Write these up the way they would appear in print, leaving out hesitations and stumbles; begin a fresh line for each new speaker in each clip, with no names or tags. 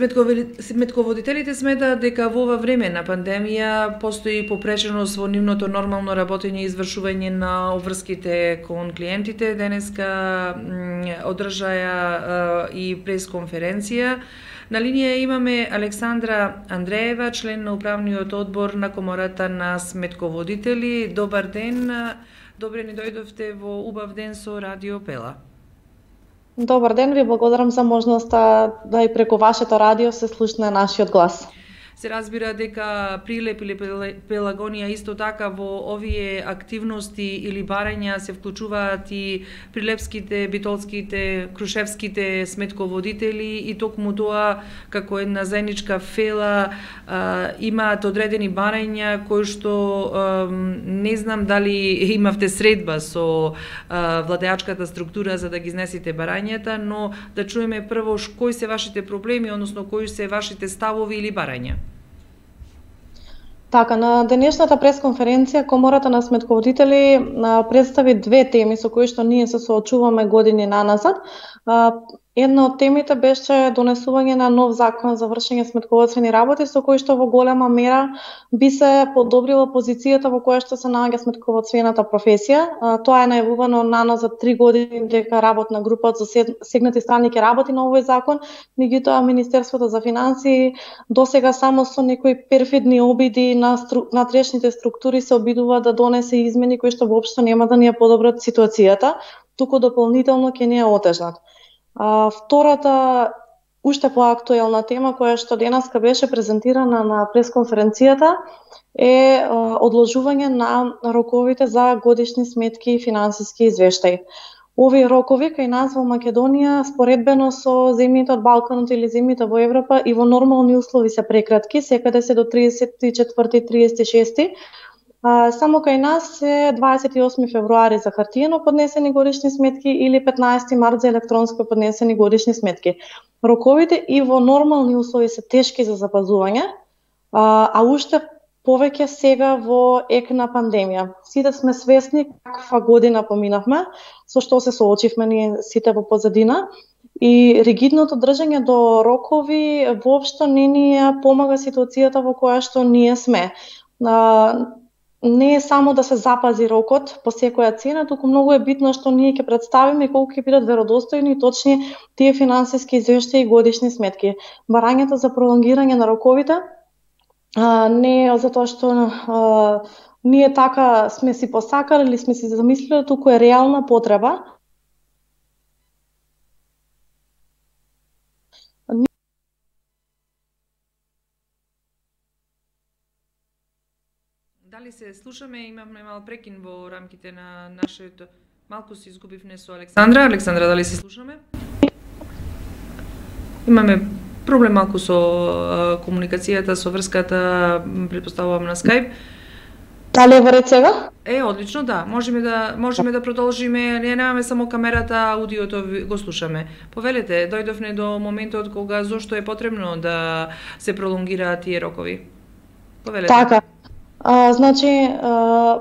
Сметководителите сметаат дека во ова време на пандемија постои попреченост во нивното нормално работење и извршување на обврските кон клиентите. Денеска одржаја и пресконференција. На линија имаме Александра Андреева, член на управниот одбор на Комората на сметководители. Добар ден, добре ни дојдовте во убав ден со Радио Пела.
Добар ден, ви благодарам за можноста да и преку вашето радио се слушне нашиот глас.
Се разбира дека Прилеп или Пелагонија исто така во овие активности или барања се вклучуваат и прилепските, битолските, крушевските сметководители и токму тоа како една заедничка фела имаат одредени барања кои што не знам дали имавте средба со владеачката структура за да ги изнесете барањата, но да чуеме прво кои се вашите проблеми, односно кои се вашите ставови или барања.
Така, на денешната пресконференција Комората на сметководители представи две теми со кои што ние се соочуваме години наназад. Една од темите беше донесување на нов закон за вршење сметководствени работи со кој што во голема мера би се подобрила позицијата во која што се наоѓа сметководствената професија. Тоа е најавувано наназад 3 години дека работна група од засегнати страни ќе работи на овој закон, меѓутоа Министерството за финансии досега само со некои перфидни обиди на внатрешните структури се обидува да донесе измени кои што воопшто нема да ни ја подобрат ситуацијата, туку дополнително ќе ни ја отежнат. Втората, уште поактуелна тема која што денеска беше презентирана на пресконференцијата е одложување на роковите за годишни сметки и финансиски извештаи. Овие рокови кај нас во Македонија споредбено со земјите од Балканот или земјите во Европа и во нормални услови се прекратки, секаде се до 34-36. Само кај нас е 28 февруари за хартиено поднесени годишни сметки или 15 март за електронско поднесени годишни сметки. Роковите и во нормални услови се тешки за запазување, а уште повеќе сега во ек на пандемија. Сите сме свесни каква година поминавме, со што се соочивме ние сите во позадина, и ригидното држање до рокови воопшто не ни ја помага ситуацијата во која што ние сме. Не е само да се запази рокот по секоја цена, туку многу е битно што ние ќе представиме колку ќе бидат веродостојни и точни тие финансиски извештаи и годишни сметки. Барањето за пролонгирање на роковите не е затоа што ние така сме си посакале или сме си замислиле, туку е реална потреба.
Дали се слушаме? Имаме мал прекин во рамките на нашето... Малку се изгубивме со Александра. Александра, дали се слушаме? Имаме проблем малку со комуникацијата, со врската, претпоставувам на Skype.
Дали е во ред сега?
Одлично, да. Можеме да продолжиме. Не немаме само камерата, аудиото го слушаме. Повелете, дојдовме до моментот кога зошто е потребно да се пролонгираат тие рокови. Повелете.
Така.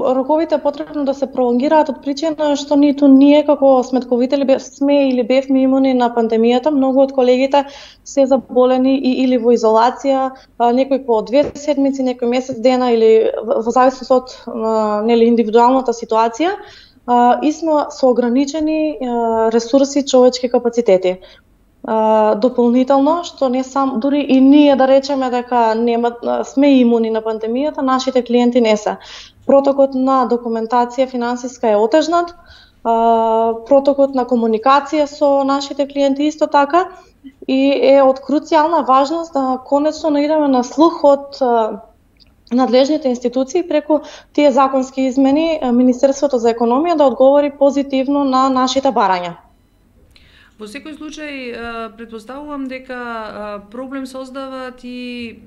Роковите е потребно да се пролонгираат од причина што ниту ние како сметководители сме или бевме имуни на пандемијата. Многу од колегите се заболени или во изолација, некои по 2 седмици, некои месец дена или во зависност од индивидуалната ситуација, и сме со ограничени ресурси, човечки капацитети. Дополнително, што не сам, дури и ние да речеме дека сме имуни на пандемијата, нашите клиенти не се. Протокот на документација финансиска е отежнат, протокот на комуникација со нашите клиенти исто така, и е од круцијална важност да конечно наидеме на слух од надлежните институции преку тие законски измени, Министерството за економија да одговори позитивно на нашите барања.
Во секој случај, претпоставувам дека проблем создаваат и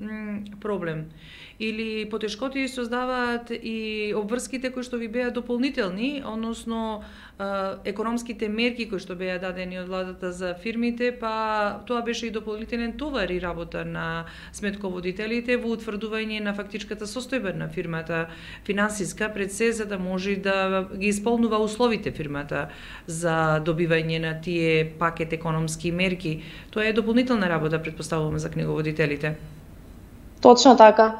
проблем. Или потешкоти создаваат и обврските кои што ви беа дополнителни, односно економските мерки кои што беа дадени од владата за фирмите, па тоа беше и дополнителен товар и работа на сметководителите во утврдување на фактичката состојба на фирмата финансиска пред се, за да може да ги исполнува условите фирмата за добивање на тие пакет економски мерки. Тоа е дополнителна работа, претпоставуваме, за книговодителите.
Точно така.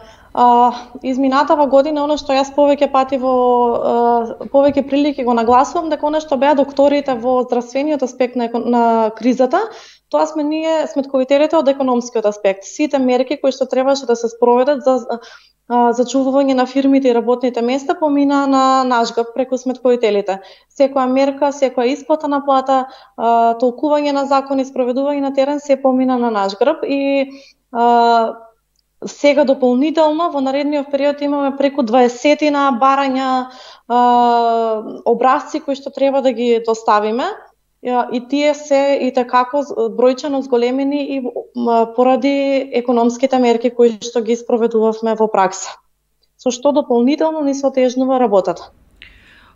Изминатава година, оно што јас повеќе пати повеќе прилики го нагласувам, дека оно што беа докторите во здравствениот аспект на кризата, тоа сме ние сметковителите од економскиот аспект. Сите мерки кои што требаше да се спроведат за зачувување на фирмите и работните места помина на наш грб преку сметковителите. Секоја мерка, секоја исплата на плата, толкување на закони, спроведување на терен се помина на наш грб и сега дополнително во наредниот период имаме преку 20 барања образци кои што треба да ги доставиме и тие се и такако бројчано зголемени и поради економските мерки кои што ги спроведувавме во пракса. Со што дополнително ни се отежнува работата.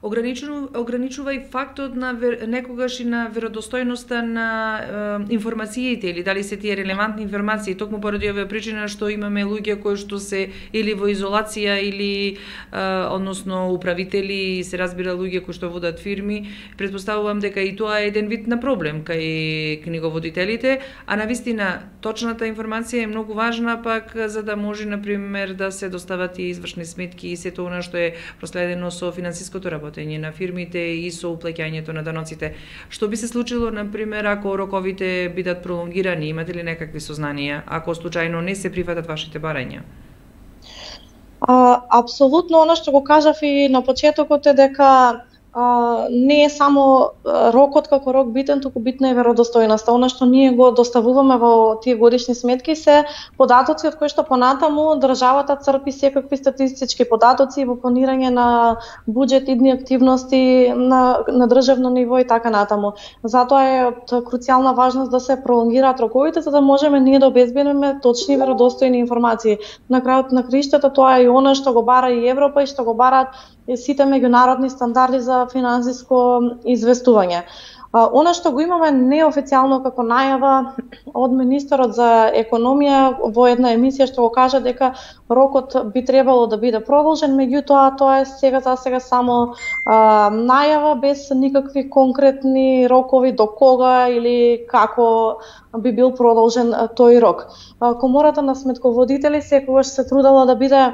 Ограничува и фактот на некогаш и на веродостојноста на информациите или дали се тие релевантни информации, токму поради оваа причина што имаме луѓе кои што се или во изолација или односно управители, се разбира луѓе кои што водат фирми. Претпоставувам дека и тоа е еден вид на проблем кај книговодителите, а навистина точната информација е многу важна пак за да може на пример да се достават и извршни сметки и сето она што е проследено со финансиското работење на фирмите и со уплаќањето на даноците. Што би се случило, на пример, ако роковите бидат пролонгирани? Имате ли некакви сознанија, ако случајно не се прифатат вашите барања?
Апсолутно, оно што го кажав и на почетокот е дека не е само рокот како рок битен, туку битна е веродостојноста. Она што ние го доставуваме во тие годишни сметки се податоци од кои што понатаму државата црпи секакви статистички податоци во планирање на буџет, идни активности на државно ниво и така натаму. Затоа е од круцијална важност да се пролонгираат роковите за да можеме ние да обезбедиме точни веродостојни информации. На крајот на криштата тоа е и она што го бара и Европа и што го бараат сите меѓународни стандарди за финансиско известување. Она што го имаме неофицијално како најава од министерот за економија во една емисија што го кажа дека рокот би требало да биде продолжен, меѓутоа тоа е за сега само најава без никакви конкретни рокови до кога или како би бил продолжен тој рок. Комората на сметководители секогаш се трудела да биде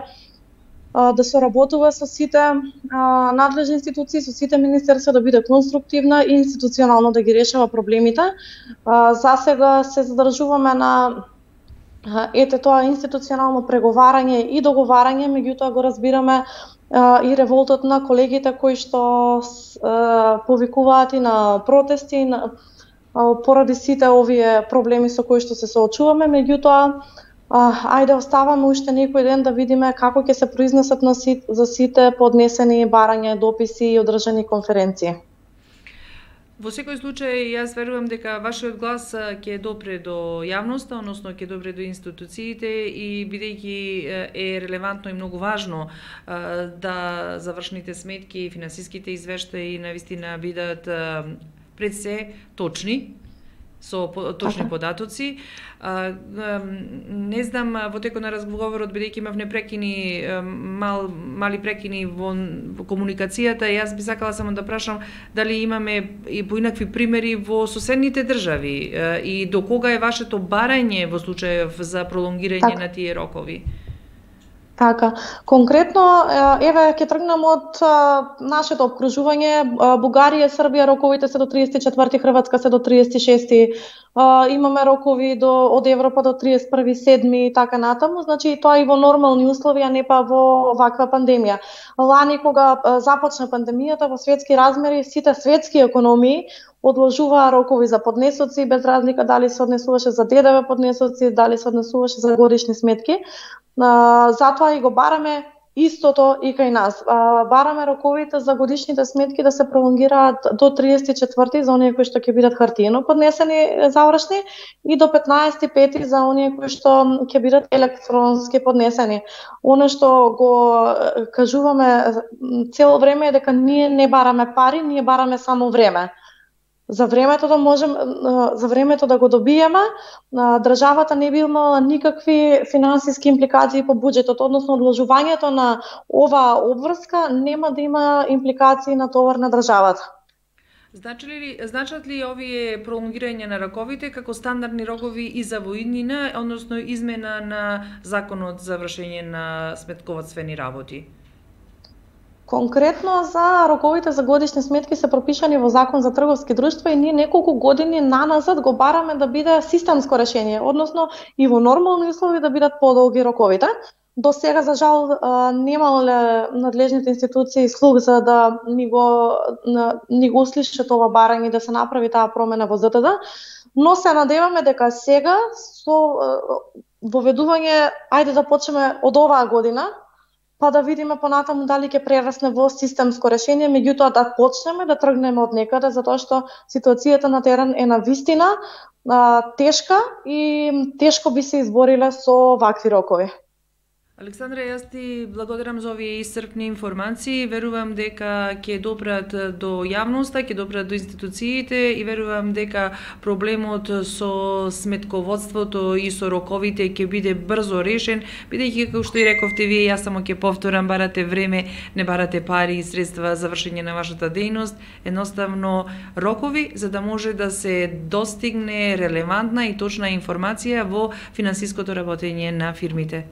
да соработува со сите надлежни институции, со сите министерства, да биде конструктивна и институционално да ги решава проблемите. За сега се задржуваме на тоа институционално преговарање и договарање, меѓутоа го разбираме и револтот на колегите кои што повикуваат и на протести поради сите овие проблеми со кои што се соочуваме, меѓутоа ајде оставаме уште некој ден да видиме како ќе се произнесат за сите поднесени барања, дописи и одржани конференции.
Во секој случај, јас верувам дека вашиот глас ќе допре до јавноста, односно ќе допре до институциите и бидејќи е релевантно и многу важно да завршните сметки, финансиските извештаи навистина бидат пред се точни, со точни податоци. Не знам, во текот на разговорот, бидејќи имав непрекини, мали прекини во комуникацијата, јас би сакала само да прашам дали имаме и поинакви примери во соседните држави и до кога е вашето барање во случајов за пролонгирање на тие рокови?
Така, конкретно, еве ќе тргнам од нашето обкружување, Бугарија, Србија, роковите се до 34, Хрватска се до 36, имаме рокови од Европа до 31/7 и така натаму, значи тоа и во нормални услови, а не па во ваква пандемија. Лани кога започна пандемијата во светски размери, сите светски економии одложуваа рокови за поднесоци, без разлика дали се однесуваше за ДДВ поднесоци, дали се однесуваше за годишни сметки. Затоа и го бараме истото и кај нас. Бараме роковите за годишните сметки да се пролонгираат до 34 за оние кои што ќе бидат хартиено поднесени завршни и до 15/5 за оние кои што ќе бидат електронски поднесени. Оно што го кажуваме цело време е дека ние не бараме пари, ние бараме само време. За времето да го добиеме, државата не би имала никакви финансиски импликации по буџетот, односно одложувањето на оваа обврска нема да има импликации на товар на државата.
Значат ли овие пролонгирање на роковите како стандардни рокови и за воиднина, односно измена на законот за вршење на сметководствени работи?
Конкретно за роковите за годишни сметки се пропишани во Закон за трговски друштва и ние неколку години наназад го бараме да биде системско решение, односно и во нормални услови да бидат подолги роковите. До сега, за жал, немале надлежните институции слух за да ни го услишат ова барање да се направи таа промена во ЗТД, но се надеваме дека сега со воведување, ајде да почнеме од оваа година, па да видиме понатаму дали ќе прерасне во системско решение, меѓутоа да почнеме да тргнеме од некаде, затоа што ситуацијата на терен е навистина тешка и тешко би се избориле со вакви рокови.
Александра, јас ти благодарам за овие исцрпни информации. Верувам дека ќе допрат до јавноста, ќе допрат до институциите и верувам дека проблемот со сметководството и со роковите ќе биде брзо решен, бидејќи како што и рековте вие, јас само ќе повторам, барате време, не барате пари и средства за вршење на вашата дејност, едноставно рокови за да може да се достигне релевантна и точна информација во финансиското работење на фирмите.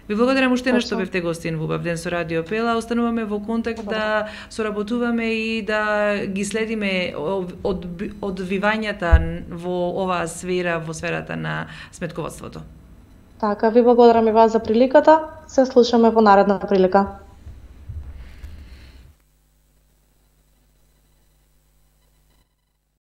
Ви благодарам уште на што бевте гостин во Убав ден со Радио Пела. Остануваме во контакт да соработуваме и да ги следиме одвивањата во оваа сфера, во сферата на сметководството.
Така, ви благодарам и вас за приликата. Се слушаме во наредна прилика.